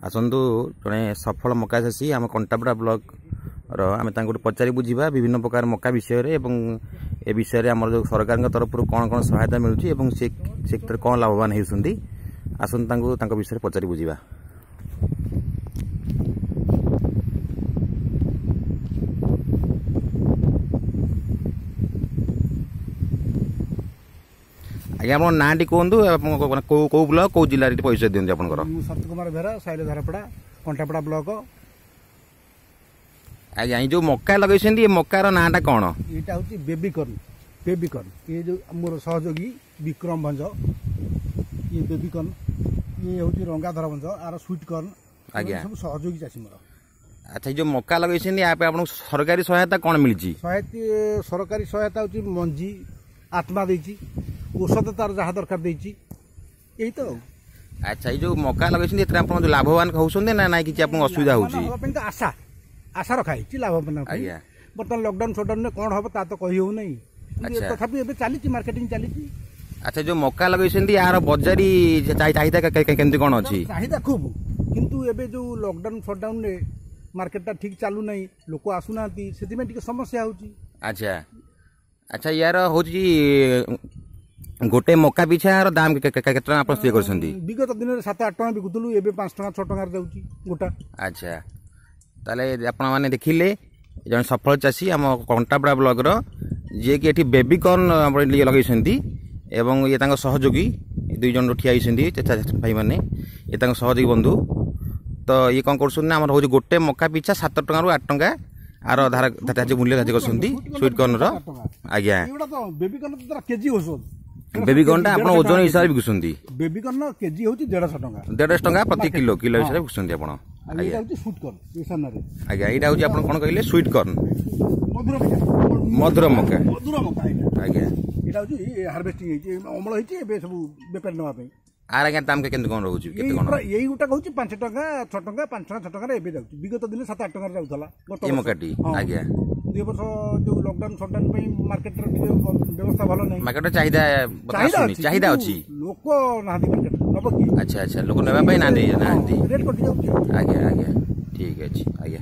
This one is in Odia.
ଆସନ୍ତୁ, ଜଣେ ସଫଳ ମକା ଚାଷୀ ଆମ କଣ୍ଟାପଡ଼ା ବ୍ଲକର, ଆମେ ତାଙ୍କଠୁ ପଚାରି ବୁଝିବା ବିଭିନ୍ନ ପ୍ରକାର ମକା ବିଷୟରେ ଏବଂ ଏ ବିଷୟରେ ଆମର ଯେଉଁ ସରକାରଙ୍କ ତରଫରୁ କ'ଣ କ'ଣ ସହାୟତା ମିଳୁଛି ଏବଂ ସେ ସେଥିରେ କ'ଣ ଲାଭବାନ ହେଉଛନ୍ତି। ଆସନ୍ତୁ, ତାଙ୍କୁ ତାଙ୍କ ବିଷୟରେ ପଚାରି ବୁଝିବା। ଆଜ୍ଞା, ଆପଣଙ୍କ ନାଁଟି କୁହନ୍ତୁ, ଆପଣଙ୍କ କେଉଁ କେଉଁ ବ୍ଲକ, କେଉଁ ଜିଲ୍ଲାରେ ପରିଚୟ ଦିଅନ୍ତୁ ଆପଣଙ୍କର। ମୁଁ ଶରତ କୁମାର ବେହେରା, ସାଇଲ ଧାରପଡ଼ା, କଣ୍ଟାପଡ଼ା ବ୍ଲକ। ଆଜ୍ଞା, ଏଇ ଯେଉଁ ମକା ଲଗେଇଛନ୍ତି, ଏ ମକାର ନାଁଟା କ'ଣ? ଏଇଟା ହେଉଛି ବେବିକର୍ନ। ବେବିକର୍ନ। ଇଏ ଯେଉଁ ମୋର ସହଯୋଗୀ ବିକ୍ରମ ଭଞ୍ଜ, ଇଏ ବେବିକର୍ନ, ଇଏ ହେଉଛି ରଙ୍ଗାଧର ଭଞ୍ଜ, ଆର ସୁଇଟ୍ କର୍ନ। ଆଜ୍ଞା, ସବୁ ସହଯୋଗୀ ଚାଷୀ ମୋର। ଆଚ୍ଛା, ଏଇ ଯେଉଁ ମକା ଲଗେଇଛନ୍ତି, ୟା ପାଇଁ ଆପଣଙ୍କୁ ସରକାରୀ ସହାୟତା କ'ଣ ମିଳିଛି? ସହାୟତା, ସରକାରୀ ସହାୟତା ହେଉଛି ମଞ୍ଜି ଆତ୍ମା ଦେଇଛି, ଔଷଧ ତାର ଯାହା ଦରକାର ଦେଇଛି, ଏଇ ତ। ଆଚ୍ଛା, ଏଇ ଯେଉଁ ମକା ଲଗେଇଛନ୍ତି, ଏଥିରେ ଆପଣ ଯେଉଁ ଲାଭବାନ ହେଉଛନ୍ତି ନା ନାଇଁ, କିଛି ଆପଣଙ୍କୁ ଅସୁବିଧା ହେଉଛି? ହେବା ପାଇଁ ତ ଆଶା ରଖା ହେଇଛି ଲାଭବାନ। ଆଜ୍ଞା। ବର୍ତ୍ତମାନ ଲକଡାଉନ ସଡାଉନରେ କ'ଣ ହବ ତା ତ କହି ହେଉନାହିଁ। ତଥାପି ଏବେ ଚାଲିଛି, ମାର୍କେଟିଂ ଚାଲିଛି। ଆଚ୍ଛା, ଯେଉଁ ମକା ଲଗେଇଛନ୍ତି, ଏହାର ବଜାରୀ ଚାହିଦା କେମିତି କ'ଣ ଅଛି? ଚାହିଦା ଖୁବ୍, କିନ୍ତୁ ଏବେ ଯେଉଁ ଲକଡାଉନ ସଡାଉନରେ ମାର୍କେଟଟା ଠିକ୍ ଚାଲୁନାହିଁ, ଲୋକ ଆସୁନାହାନ୍ତି, ସେଥିପାଇଁ ଟିକେ ସମସ୍ୟା ହେଉଛି। ଆଚ୍ଛା, ୟାର ହେଉଛି ଗୋଟେ ମକା ପିଛା ୟାର ଦାମ କେତେ ଟଙ୍କା ଆପଣ ସ୍ଥିର କରିଛନ୍ତି? ବିଗତ ଦିନରେ 7 8 ଟଙ୍କା ବିକୁଥିଲୁ, ଏବେ 5 ଟଙ୍କା 6 ଟଙ୍କାରେ ଯାଉଛି ଗୋଟା। ଆଚ୍ଛା, ତାହେଲେ ଆପଣମାନେ ଦେଖିଲେ ଜଣେ ସଫଳ ଚାଷୀ ଆମ କଣ୍ଟାପଡ଼ା ବ୍ଲକର, ଯିଏକି ଏଠି ବେବିକର୍ନ ଆପଣ ଲଗେଇଛନ୍ତି ଏବଂ ଇଏ ତାଙ୍କ ସହଯୋଗୀ ଦୁଇ ଜଣ ଠିଆ ହେଇଛନ୍ତି ଭାଇମାନେ, ଇଏ ତାଙ୍କ ସହଯୋଗୀ ବନ୍ଧୁ। ତ ଇଏ କ'ଣ କରୁଛନ୍ତି ନା, ଆମର ହେଉଛି ଗୋଟେ ମକା ପିଛା 7 ଟଙ୍କାରୁ 8 ଟଙ୍କା ଆର ଧାରା ଧାର୍ଯ୍ୟ ମୂଲ୍ୟ ଧାର୍ଯ୍ୟ କରୁଛନ୍ତି ସୁଇଟ୍ କର୍ଣ୍ଣର। ଆଜ୍ଞା, ବେବିକର୍ନ କେଜି ଔଷଧ। ବେବିକର୍ନଟା ଆପଣ ଓଜନ ହିସାବରେ ବିକୁଛନ୍ତି? ବେବିକର୍ନ କେଜି ହେଉଛି 150 ଟଙ୍କା। 150 ଟଙ୍କା ପ୍ରତି କିଲୋ, କିଲୋ ହିସାବରେ ବିକୁଛନ୍ତି ଆପଣ। ଆଜ୍ଞା, ଆଜ୍ଞା, ଏଇଟା ହେଉଛି ଆପଣ କ'ଣ କହିଲେ, ସୁଇଟ୍ କର୍ନ, ମଧୁର ମକା। ମଧୁର ମକା। ଆଜ୍ଞା, ଏଇଟା ହେଉଛି ହାର୍ଭେଷ୍ଟିଂ ହେଇଛି, ଅମଳ ହେଇଛି, ଏବେ ସବୁ ବେପାରୀ ନେବା ପାଇଁ। ଆର ଆଜ୍ଞା ଦାମ କେମିତି କ'ଣ ରହୁଛି, କେତେ କ'ଣ? ଏଇ ଗୋଟା ହେଉଛି 5 ଟଙ୍କା 6 ଟଙ୍କା, 5 ଟଙ୍କା 6 ଟଙ୍କାରେ ଏବେ ଯାଉଛି। ବିଗତ ଦିନେ 7 8 ଟଙ୍କାରେ ଯାଉଥିଲା ଏ ମକାଟି। ଆଜ୍ଞା, 2 ବର୍ଷ ଯୋଉ ଲକଡାଉନ ସଟଡାଉନ ପାଇଁ ମାର୍କେଟର ଟିକେ ବ୍ୟବସ୍ଥା ଭଲ ନାହିଁ। ମାର୍କେଟର ଚାହିଦା ଚାହିଦା ଅଛି, ଲୋକ ନାହାନ୍ତି ମାର୍କେଟ ନବ କି? ଆଚ୍ଛା, ଲୋକ ନେବା ପାଇଁ ନାହାନ୍ତି। ରେଟ୍ କଟି ଯାଉଛି। ଆଜ୍ଞା, ଠିକ ଅଛି ଆଜ୍ଞା।